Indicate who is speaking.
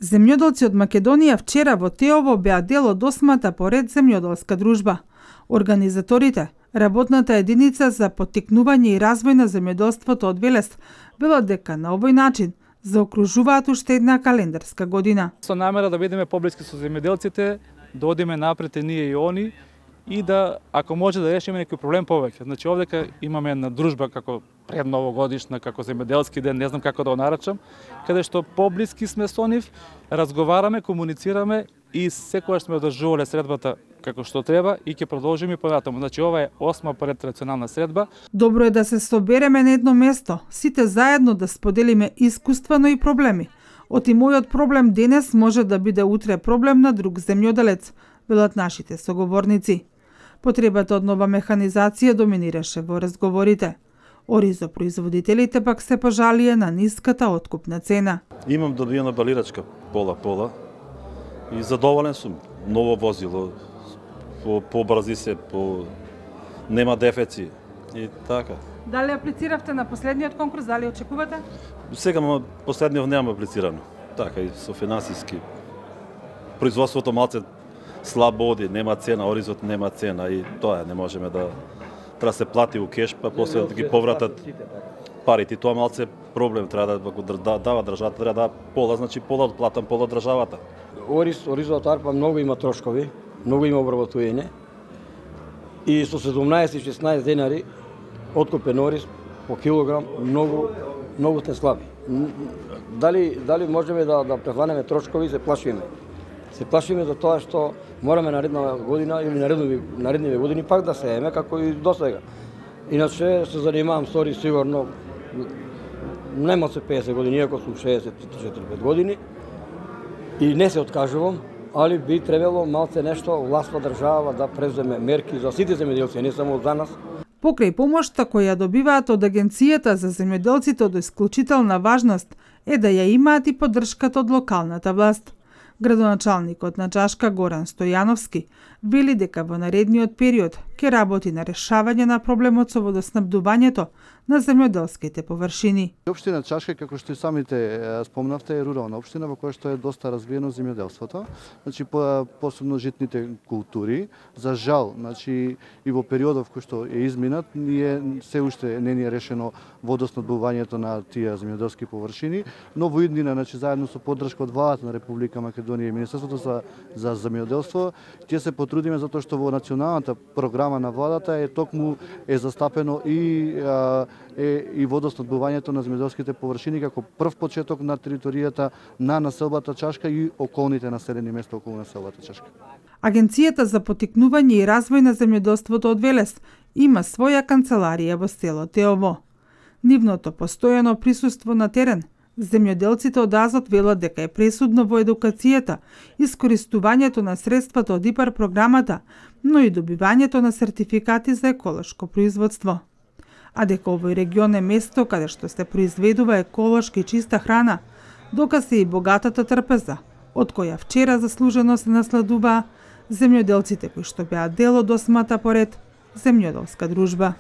Speaker 1: Земјоделци од Македонија вчера во Теово беа дел од 8-та поред земјоделска дружба. Организаторите, работната единица за поттикнување и развој на земјоделството од Велес, велат дека на овој начин заокружуваат уште една календарска година.
Speaker 2: Со намера да бидеме поблиски со земјоделците, да одиме напред и ние и они, и да, ако може да решиме некој проблем повеќе. Значи овдека имаме една дружба како пред новогодишна, како земјоделски ден, не знам како да го нарачам, каде што поблиски сме со нив, разговараме, комуницираме и секогаш сме одржувале средбата како што треба и ќе продолжиме понатаму. Значи ова е 8-ма поред традиционална средба.
Speaker 1: Добро е да се собереме на едно место, сите заедно да споделиме искуства, но и проблеми. Оти мојот проблем денес може да биде утре проблем на друг земјоделец, велат нашите соговорници. Потребата од нова механизација доминираше во разговорите. Оризопроизводителите пак се пожалија на ниската откупна цена.
Speaker 3: Имам добиена балирачка пола и задоволен сум. Ново возило, побрзи се, нема дефеци и така.
Speaker 1: Дали аплициравте на последниот конкурс, дали очекувате?
Speaker 3: Сега последниот нема аплицирано. Така и со финансиски. Производството малце слабо оди, нема цена, Оризот нема цена и тоа не можеме да треба се плати у кеш, па после да ги повратат парите. Тоа малце проблем, треба да го дава државата, треба да пола, значи пола од платам, пола од државата.
Speaker 4: Оризот арпа многу има трошкови, многу има обработување и со 17-16 денари откупен ориз по килограм многу сте слаби. Дали можеме да прехванеме трошкови, се плашиме. Се плашиме за тоа што мораме наредна година или наредниве години пак да сееме како и досега. Иначе се занимавам со ориз сигурно нема се 50 години, иако сум 64-5 години и не се откажувам, али би требало малце нешто власта држава да преземе мерки за сите земјоделци, не само за нас.
Speaker 1: Покрај помошта која добиваат од Агенцијата за земјоделците од исклучителна важност е да ја имаат и поддршката од локалната власт. Градоначалникот на Чашка Горан Стојановски вели дека во наредниот период ќе работи на решавање на проблемот со водоснабдувањето на земјоделските површини.
Speaker 5: Општина Чашка, како што и самите спомнавте, е рурална општина во која што е доста развиено земјоделството. Значи посебно житните култури. За жал, значи и во периодов кој што е изминат, ние се уште не ни е решено водоснабдувањето на тие земјоделски површини, но во иднина, значи заедно со поддршка од владата на Република Македонија и Министерството за земјоделство, ќе се потрудиме затоа што во националната програма на владата е токму застапено и водоснабдувањето на земјоделските површини како прв почеток на територијата на населбата Чашка и околните населени места околу населбата Чашка.
Speaker 1: Агенцијата за поттикнување и развој на земјоделството од Велес има своја канцеларија во село Теово. Нивното постојано присуство на терен, земјоделците од Азот велат дека е пресудно во едукацијата, искористувањето на средствата од ИПАР програмата, но и добивањето на сертификати за еколошко производство. А дека овој регион е место каде што се произведува еколошки и чиста храна, доказ е и богатата трпеза, од која вчера заслужено се насладуваа земјоделците кои што беа дел од 8-та поред земјоделска дружба.